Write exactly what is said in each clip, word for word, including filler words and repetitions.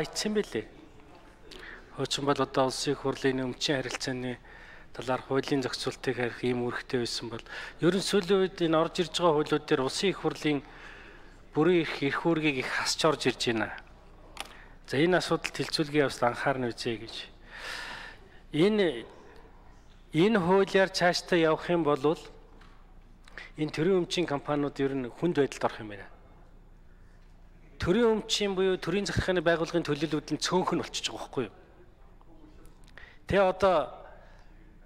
Эцсэн бэлээ. Хуучин бол одоо улсын их хурлын өмчийн харилцааны талаар хуулийн зохицуултыг харих ийм үүрэгтэй байсан бол ерөн сүүлийн үед энэ орж ирж байгаа хуулиуд дээр улсын их хурлын бүрийн их эрх үүргийг их хасч орж ирж байна. За энэ асуудалд хилцүүлгийн явцад анхаарна үзье гэж. Энэ энэ хуулиар цаашдаа явах юм бол энэ төрийн өмчийн компаниуд ер нь хүнд байдалд орох юм байна. Төрийн өмчийн буюу төрийн захиргааны байгууллагын төлөөлөлүүд нь цөөнх нь болчихж байгаа байхгүй юу? Тэгээ одоо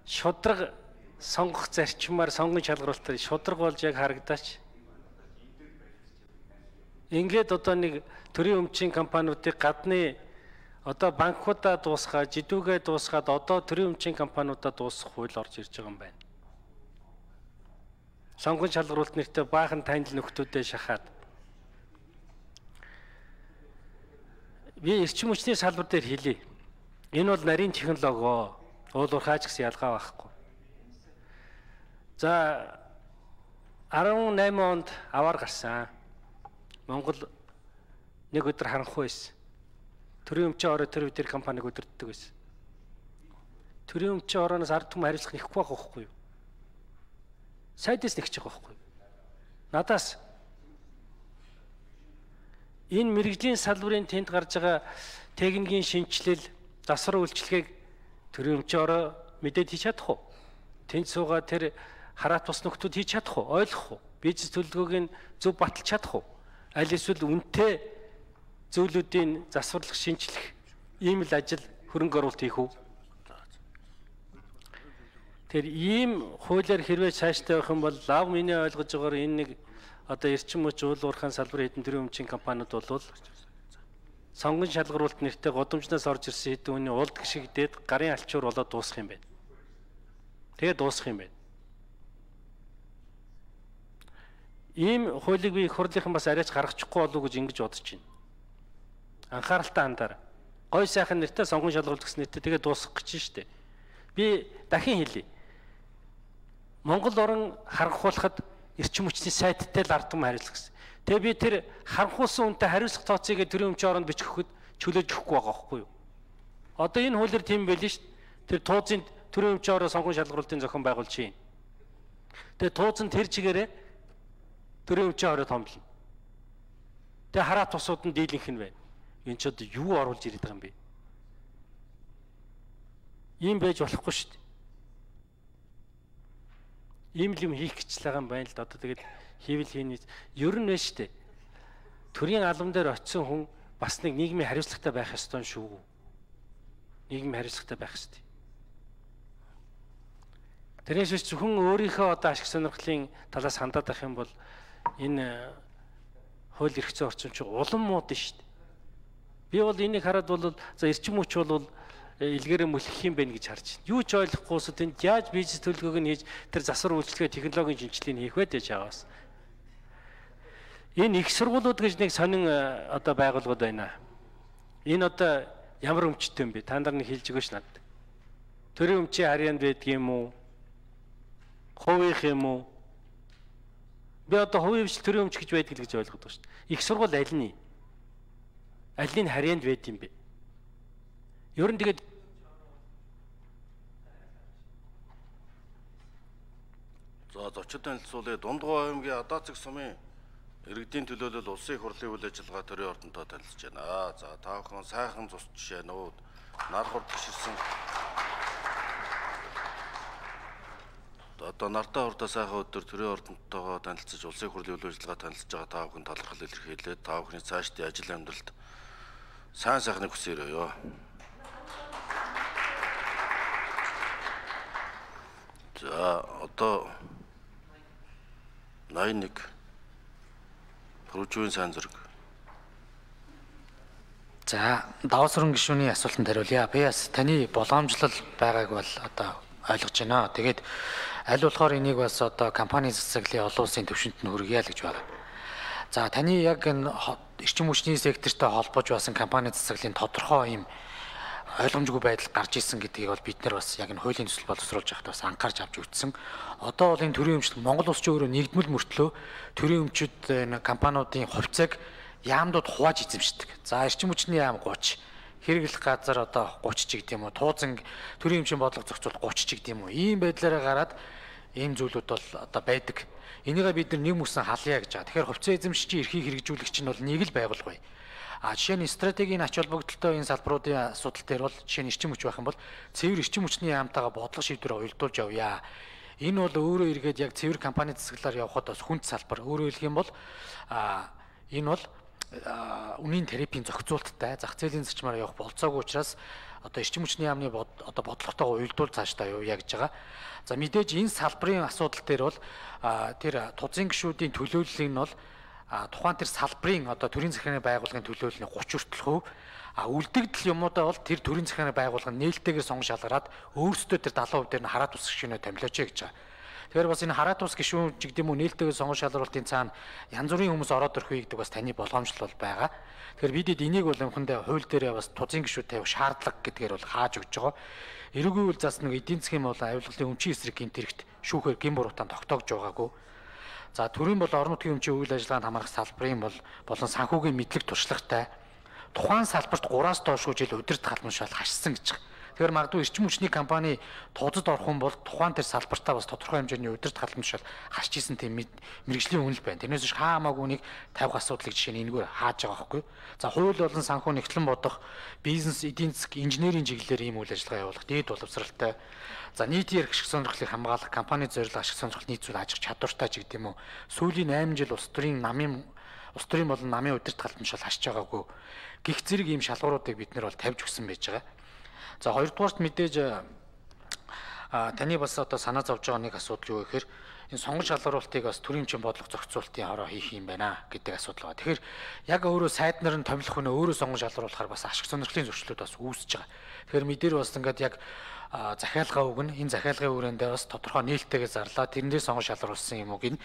шудраг сонгох зарчмаар сонгон шалгаруулалтаар шудраг болж яг харагдаач. Ингээд одоо нэг төрийн өмчийн компаниудыг гадны одоо банкудаа дуусгаад, жидүүгээ дуусгаад одоо төрийн өмчийн компаниудаа дуусгах хууль орж ирж байгаа юм байна. Сонгон шалгаруулалт нэртэй баахан танил нөхдүүдэд шахаад би эрчим хүчний салбар дээр хэлье. Энэ бол нарийн технологи, уул уурхайч гэсэн ялгаа байхгүй. За арван найман онд аваар гарсан. Монгол нэг өдөр харанхуй байсан. Төрийн өмчийн ороо тэр үдээр компаниг өдөрддөг байсан. Төрийн өмчийн орооноос ард түмэн хариуцлах нэхгүй байх байхгүй юу? Сайдээс нэгч байгаа байхгүй юу? Надаас энэ мэрэгжлийн салбарын тэнд гарч байгаа техникийн шинжилэл, засвар үйлчилгээг төрийн өмчийн ороо мэдээд хийж чадах уу? Тэнд суугаа тэр хараат бус нөхдүүд хийж чадах уу? Ойлгох уу? Бизнес төлөвлөгөөг нь зөв баталж чадах уу? Аль эсвэл үнэтэй зөвлөдийн засварлах, шинжлэх ийм л ажил хөрөнгө оруулалт хийх үү? Тэр ийм хуулиар хэрвээ цаашдаа явах юм бол лав миний ойлгож байгаагаар энэ нэг одоо эрчим хүч уул уурхайн салбарын хэдэн төрлийн өмчийн компаниуд бол сонгон шалгаруулалт нэртэй годомжноос орж ирсэн хэдэн хүний улд гიშгдээд гарын алчуур болоод дуусах юм байна. Тэгээ дуусах юм байна. Ийм хуулийг би их хурлынхан бас арайч гаргачихгүй болов уу гэж ингэж бодож байна. Анхааралтай хандаарай. Гой сайхан нэртэй сонгон шалгаруулалт гэсэн нэртэй тэгээ дуусгах гэж байна шүү дээ. Би дахин хэлье. Монгол орн харанхуулахад эрчим хүчний сайттай л ард түмэн хариуцлах гэсэн. Тэгээ би тэр харанхуулсан үнэтэй хариуцлах тооцоог төрийн өмчийн оронд бичихэхэд чөлөөж өгөхгүй байгаа байхгүй юу? Одоо энэ хуулиар тийм байл шүү дээ. Тэр туузын төрийн өмчийн ороо сонгон шалгаруулалтын зохион байгуулж чинь. Тэгээ туузан тэр чигээрээ төрийн өмчийн ороо томлно. Тэгээ хараат тусууд нь дийлэнх нь байна. Энэ ч одоо юу оруулж ирээд байгаа юм бэ? Ийм байж болохгүй шүү дээ. Ийм л юм хийх гэж байгаа юм байна л да. Одоо тэгээд хийвэл хийнэ. Ер нь байна шүү дээ. Төрийн албан дээр очисон хүн бас нэг нийгмийн хариуцлагатай байх ёстой шүү. Нийгмийн хариуцлагатай байх ёстой. Тэрээс биш зөвхөн өөрийнхөө одоо ашиг сонирхлын талаас хандаад байх юм бол энэ хууль эрх зүйн орчин чинь улам мууд нь шүү дээ. Би бол энийг хараад бол за эрчим хүч бол илгээрээ мөлхөх юм байна гэж харж байна. Юу ч ойлгохгүйс тэнд яаж бизнес төлөвлөгөөг нь хийж тэр засвар үйлчлэгээ технологийн шинжилгээг хийх вэ гэж аваас. Энэ их сургуулиуд гэж нэг сонин одоо байгууллагууд байна. Энэ одоо ямар өмчтэй юм бэ? Та нар нэг хэлж өгөөч надад. Төрийн өмчийн харьяанд байдаг юм уу? Хувийнх юм уу? Би одоо хувийн хвшил төрийн өмч гэж байдаг л гэж ойлгоод байгаа шүү дээ. Их сургууль аль нь? Аль нь харьяанд байд юм бэ? Ер нь тэгээд за зочид танилцуулъя. Дундгой аймгийн Адаацэг сумын иргэдийн төлөөлөл улсын их хурлын үйл ажиллагаа төрийн ордонтой танилцж байна. За та бүхэн сайхан цус жишээ нүүд нар хурд гişирсэн одоо нартай хурдаа сайхан өдөр төрийн ордонтойгоо танилцж улсын их хурлын үйл ажиллагаа танилцж байгаа та бүхэн талархал илэрхийлээд та бүхний цаашдын ажил амьдралд сайн сайхныг хүсээрэй. За одоо найман нэг хөрвжүүн сайн зэрэг. За даваа сүрэн гишүүний асуултанд хариулъя. Би бас таны боломжлол байгааг бол одоо ойлгож байна. Тэгээд аль болохоор энийг бас одоо компани засаглалын олон улсын төвшөнд нь хүргье л гэж байна. За таны яг энэ эрчим хүчний сектортой холбож байсан компани засаглалын тодорхой юм ойлгомжгүй байдал гарч ирсэн гэдгийг бол бид нар бас яг энэ хуулийн төсөл боловсруулж байхад бас анхаарч авч үзсэн. Одоо бол энэ төрийн өмчлөг Монгол улс ч өөрөө нэгдмэл мөртлөө төрийн өмчөд энэ компаниудын хувьцааг яамдууд хувааж эзэмшдэг. За эрчим хүчний яам гуйч, хэрэглэх газар одоо гуйч ч гэдэм үү, туузан төрийн хэмжээний бодлого зохицуул гуйч ч гэдэм үү. Ийм байдлаараа гараад ийм зүйлүүд бол одоо байдаг. Энийгээ бид нар нэг мөсөн халъя гэж байгаа. Тэгэхээр хувьцаа эзэмшигчийн эрхийг хэрэгжүүлэгч нь бол нэг л байгуулга бай. А жишээ нь стратегийн ач холбогдолтой энэ салбаруудын асуудал дээр бол жишээ нь эрчим хүч байх юм бол цэвэр эрчим хүчний яамтайгаа бодлого шийдвэрээ уялдуулж явъя. Энэ бол өөрөө эргээд яг цэвэр компани засаглаар явхад бас хүнд салбар. Өөрөөр хэлэх юм бол а энэ бол үнийн тарифын зохицуулттай зах зээлийн зарчмаар явах болцоогүй учраас одоо эрчим хүчний яамны одоо бодлоготойгоо уялдуул цаашдаа явъя гэж байгаа. За мэдээж энэ салбарын асуудал дээр бол тэр тузын гишүүдийн төлөөлөл нь бол тухайн тэр салбарын одоо төрийн захиргааны байгууллагын төлөөллийн гуч хүртэл хувь а үлдэгдэл юмудаа бол тэр төрийн захиргааны байгууллага нээлттэйгээр сонгож шалгараад өөрсдөө тэр даалгавар дээр нь хараат ус гишүүнээ томилооч гэж байгаа. Тэгэхээр бас энэ хараат ус гишүүн ч гэдэм үү нээлттэйгээр сонгож шалгуулалтын цаана янз бүрийн хүмүүс ороод ирэх үе гэдэг бас таны боломжтой бол байгаа. Тэгэхээр бидэд энийг бол юмхандаа хууль дээрээ бас тузын гишүүд тавих шаардлага гэдгээр бол хааж өгч байгаа. Эрүүгийн үйл зас нэг эдийн засгийн болон авилгалын өмчийн эсрэг гэмт хэрэгт шүүхээр гин буруутаанд тогтоогж байгаагүй. За төрийн бол орон нутгийн өмчийн үйл ажиллагаанд хамрах салбарын бол болон санхүүгийн мэдлэг туршлагатай тухайн салбарт гураас доошгүй жил удирд халмшаал хашсан гэж. Тэгэхээр магадгүй эрчим хүчний компани тузад орох юм бол тухайн тэр салбартаа бас тодорхой хэмжээний удирд халмшаал хасч исэн тийм мэрэгжлийн үнэл байна. Тэрнээс биш хаамаагүй нэг тавих асуудлыг жишээ нь энэгээр хааж байгаа байхгүй. За хууль болон санхүү нэгтлэн бодох, бизнес, эдийн засаг, инженерийн чиглэлээр ийм үйл ажиллагаа явуулах дээд боловсралтай. За нийтийн эрх ашиг сонирхлыг хамгаалах, компани зорилго ашиг сонирхол нийцүүл аж ахуй чадвартай ч гэдэм үү. Сүүлийн восемь жил улс төрийн намын улс төрийн болон намын удирд халмшаал хасч байгаагүй. Гих зэрэг ийм шалгууруудыг бид нар бол тавьж өгсөн байж байгаа. За хоёрдугаарт мэдээж таны бас одоо санаа зовж байгаа нэг асуудал юу гэхээр энэ сонгож шалгаруулалтыг бас төрийн хэмжээний бодлого зохицуулалтын хороо хийх юм байна гэдэг асуудал байна. Тэгэхээр яг өөрөө сайд нар нь томилох өнөө өөрөө сонгож шалгаруулахаар бас ашиг сонирхлын зөрчлүүд бас үүсэж байгаа. Тэгэхээр мэдээр бас ингээд яг захиалгаа өгнө. Энэ захиалгын хүрээндээ бас тодорхой нээлттэйгээ зарлаа. Тэрнээс сонгож шалгаруулсан юм уу гин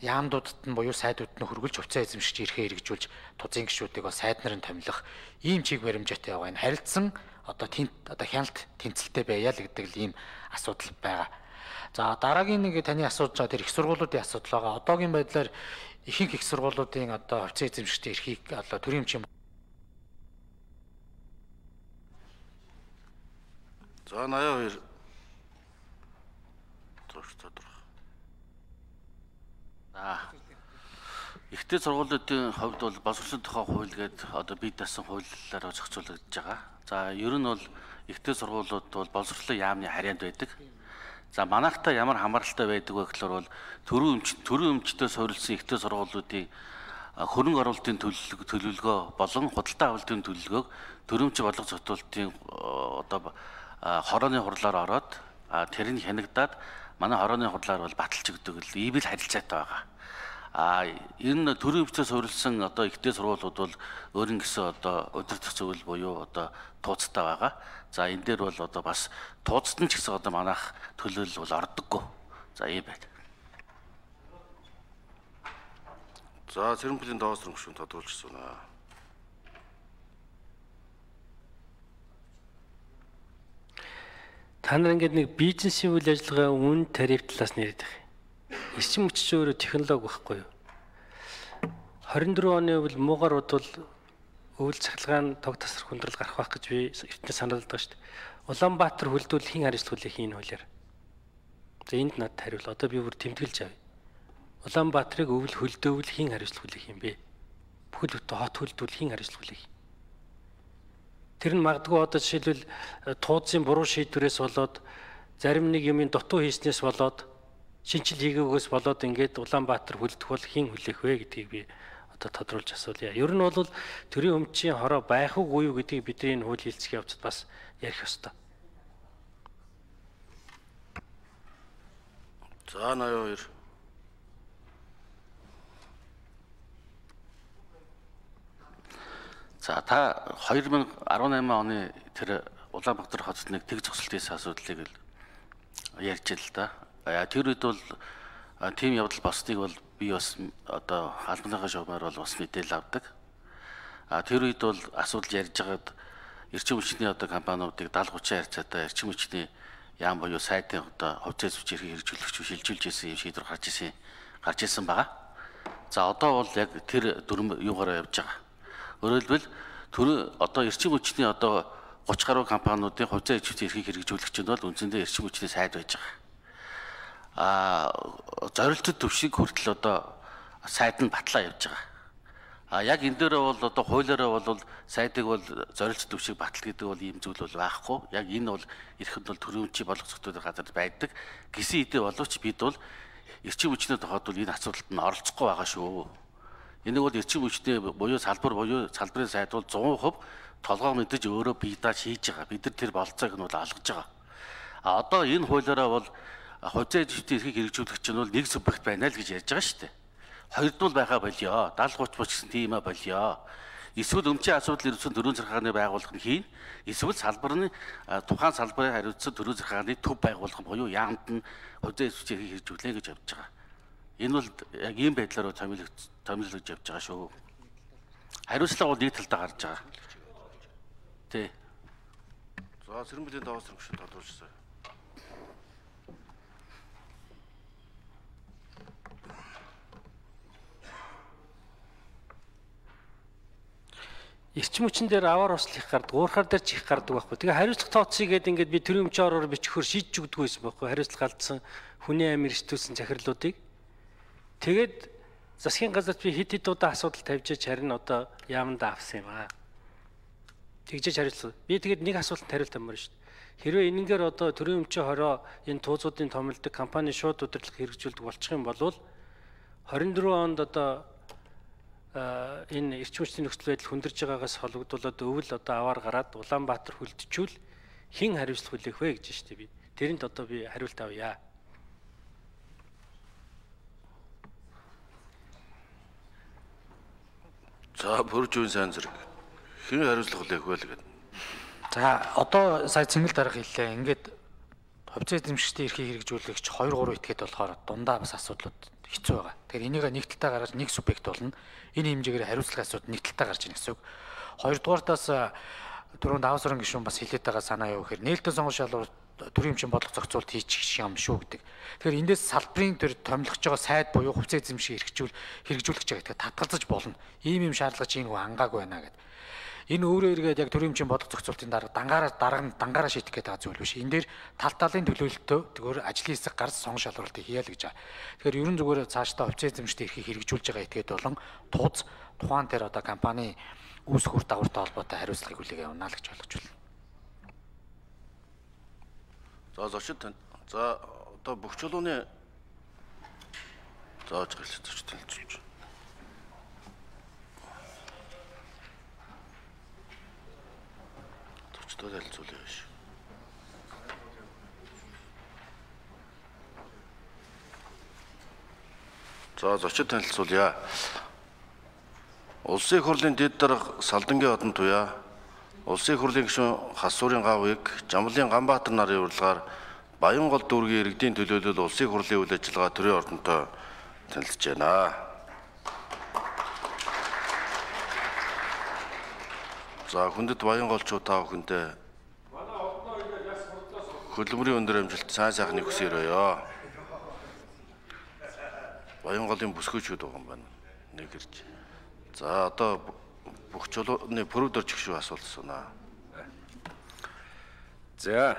яамдуудад нь буюу сайдууд нь хөргөлж хувьцаа эзэмшигч эрхээ хэрэгжүүлж тузын гишүүдийг бас сайд нарын томилох ийм чиг баримжаатай байгаа. Энэ харилцсан одоо тент одоо хяналт тэнцэлтэй байя л гэдэг л ийм асуудал байгаа. За дараагийн нэг таны асууж байгаа тэр их сургуулиудын асуудал байгаа. Одоогийн байдлаар ихэнх их сургуулиудын одоо хувьцаа эзэмшигчдийн эрхийг одоо төрийн хэмжээнд За восемьдесят хоёр зурх тодорхой. Аа. Ихтэй сургуулиудын хувьд бол боловсролын тухай хууль гэдэг одоо бие даасан хуулиараа зохицуулагдж байгаа. За ер нь бол ихтэй сургуулиуд бол боловсролын яамны харьяанд байдаг. За манайхтай ямар хамааралтай байдаг вэ гэхээр бол төрийн өмч төрийн өмчтөд суурилсан ихтэй сургуулиудын хөрөнгө оруулалтын төлөвлөгөө болон худалдаа авалтын төлөвлөгөөг төрийн өмч бодлого зохицуулалтын одоо хорооны хурлаар ороод тэрийг хянагдаад манай хорооны хурлаар бол баталж өгдөг л ийм л харилцаатай байгаа. А энэ төрийн өмчтөд суурилсан одоо ихтэй сургуулиуд бол өөрийн гэсэн одоо удирдах зөвлөл буюу одоо тууцтай байгаа. За энэ дээр бол одоо бас тууцд нь ч гэсэн одоо манайх төлөөлөл бол ордоггүй. За ийм байна. За Цэрэнбэлийн даваа сөрөг гишүүн тодруулжсэн аа. Та нар ингээд нэг бизнесийн үйл ажиллагаа үн тариф талаас нь яриад байгаа. Эрчим хүч чинь өөрөө технологи байхгүй юу? хорин дөрвөн оны үйл муугар бодвол өвөл цахилгаан тог тасрах хүндрэл гарах байх гэж би эртнээ санаалдаг шүү дээ. Улаанбаатар хөлдөл хэн хариуцлагыг хийн хуулиар. За энд надад хариул. Одоо би бүр тэмдэглэж авъя. Улаанбаатарыг өвөл хөлдөөвөл хэн хариуцлагыг хийн бэ? Бүхэл бүтэн хот хөлдөл хэн хариуцлагыг хийн? Тэр нь магадгүй одоо жишээлбэл тууцын буруу шийдвэрээс болоод зарим нэг юмын дутуу хийснээс болоод шинжил хийгээгөөс болоод ингээд Улаанбаатар хөлдөх бол хэн хүлээх вэ гэдгийг би одоо тодруулж асуулъя. Ер нь бол төрийн өмчийн хороо байх уу юу гэдгийг бидний энэ хууль хэлцэх явцад бас ярих ёстой. За восемьдесят хоёр. За та две тысячи десять оны тэр Улаанбаатар хотод нэг тэг зогсолтын асуудлыг л ярьж л да. Тэр үед бол тийм явдал босныг бол би бас одоо албаныхаа шугамаар бол бас мэдээлэл авдаг. А тэр үед бол асуудал ярьж байгаад эрчим хүчний одоо компаниудыг даалгавар хүчин харьцаатай эрчим хүчний яам буюу сайдын одоо хувьцаа зүйч эрхийг хэрэгжүүлэгч шилжүүлж ирсэн юм шийдвэр гарч ирсэн гарч ирсэн байгаа. За одоо бол яг тэр дүрм юугаараа явж байгаа. Өөрөөр хэлбэл төр одоо эрчим хүчний одоо гуч гаруй компаниудын хувьцаа идэвхтэй эрхийг хэрэгжүүлэгч нь бол үндсэндээ эрчим хүчний сайд байж байгаа. Аа зорилттой төвшиг хүртэл одоо сайд нь батлаа явж байгаа. А яг энэ дээрээ бол одоо хуулиараа бол сайдыг бол зорилт төвшиг батал гэдэг бол ийм зүйл бол байхгүй. Яг энэ бол эрхэнд бол төрөмчийн болгоцогттой газар байдаг. Гисэн хэдий боловч бид бол эрчим хүчний тохиолдолд бол энэ асуудалд нь оролцохгүй байгаа шүү. Энийг бол эрчим хүчний буюу салбар буюу салбарын сайд бол сто процент толгой мэдэж өөрөө бие дааж хийж байгаа. Бид нар тэр болцоог нь бол алгаж байгаа. А одоо энэ хуулиараа бол хувьцаа идэвхтэй эрхийг хэрэгжүүлэгч нь бол нэг субъект байна л гэж ярьж байгаа шүү дээ. Хоёрдуул байхаа болио. дагалга гуч буч гэсэн тийм а болио. Эсвэл өмчийн асуудал ирсэн төрийн захиргааны байгууллага нь хийн. Эсвэл салбарны тухайн салбарын хариуцсан төрийн захиргааны төв байгууллага буюу яамд нь хувьцаа идэвхтэй эрхийг хэрэгжүүлнэ гэж явж байгаа. Энэ бол яг ийм байдлаар томилогдож явж байгаа шүү. Хариуцлага бол нэг талдаа гарч байгаа. Тэ. За Сэрэмбэлийн даваа сэрэмх шиг тодорхойлсон. Эрчим хүчин дээр аваар ослох гардаг, уурхаар дээр чих гардаг байхгүй. Тэгээ хариуцлага тооцъё гэдэг ингээд би төрийн өмчийн ороор бичгөхөр шийдэж өгдөг байсан байхгүй. Хариуцлага алдсан хүний амир ертүүлсэн захирлуудыг. Тэгээд засгийн газарт би хэд хэд удаа асуудал тавьж харин одоо яамдаа авсан юм аа. Тэгжээж хариулсан. Би тэгээд нэг асуултанд хариулт амаар шүү дээ. Хэрвээ энэнгээр одоо төрийн өмчийн хороо энэ туузуудын томилдог компани шууд удирдлага хэрэгжүүлдэг болчих юм бол хорин дөрвөн онд одоо энэ эрчим хүчний нөхцөл байдал хүндэрж байгаагаас холбогдуулаад өвөл одоо аваар гараад Улаанбаатар хүлдчихвэл хэн хариуцлага хүлээх вэ гэж штэ би. Тэрэнд одоо би хариулт авъя. За бүрж үн сайн зэрэг. Хэн хариуцлага хүлээх вэ гэдэг. За одоо сая цэнгэл дарга хэллээ. Ингээд хувьцаа эзэмшигчдийн эрхийг хэрэгжүүлэгч хоёр гурван этгээд болохоор дундаа бас асуудлууд хэцүү байгаа. Тэгэхээр энийг нэг талдаа гаргаж нэг субъект болно. Энэ хэмжээгээр хариуцлага асуудал нэг талдаа гарч ийн гэсэн үг. Хоёрдугаартаас түрүүн даваа сарын гишүүн бас хэлээд байгаа санаа юу гэхээр нээлттэй сонгон шалгуур төрийн өмчийн бодлого зохицуулт хийчих юм шүү гэдэг. Тэгэхээр эндээс салбарын төр томилгож байгаа сайд буюу хувьцаа эзэмшиг хэрэгжүүл хэрэгжүүлэгч байгаа. Тэгэхээр татгалзаж болно. Ийм юм шаардлага чинь хөө ангаагүй байна гэдэг. Энэ өөрөө эргээд яг төрийн өмчийн бодлого зохицуултын дарга дангаараа дарга нь дангаараа шийдэх гэдэг зүйл биш. Энэ дээр тал талын төлөөлөлтөө тэгвэр ажлын хэсэг гарч сонгон шалгуулалтыг хийя л гэж байгаа. Тэгэхээр ерөн зүгээр цаашдаа хувьцаа эзэмшигчдийн эрхийг хэрэгжүүлж байгаа этгээд болон тууз тухайн тэр одоо компани үүсэх үр дагавартай холбоотой хариуцлагыг хүлээх явна л гэж ойлгож байна. За зочид тань. За одоо бүх чулууны зааж гэлж зочид танилцуулж. Зочдод танилцуулъя биш. За зочид танилцуулъя. Улсын их хурлын дэд дарга Салдангийн одон туяа, Улсын их хурлын гишүүн Хасуурын Гавыг, Жамлын Ганбаатар нарын урилгаар Баянгол дүүргийн иргэдийн төлөөлөл Улсын их хурлын үйл ажиллагаа төрийн ордонтой танилцж байна. За хүндэт Баянголчууд та бүхэндээ хөдөлмөрийн өндөр амжилт сайн сайхныг хүсээрөөё. Баянголын бүсгүйчүүд байгаа юм байна. Нэг ирж. За одоо бүх чулууны пүрэв дөрж гişүү асуулт асуунаа. За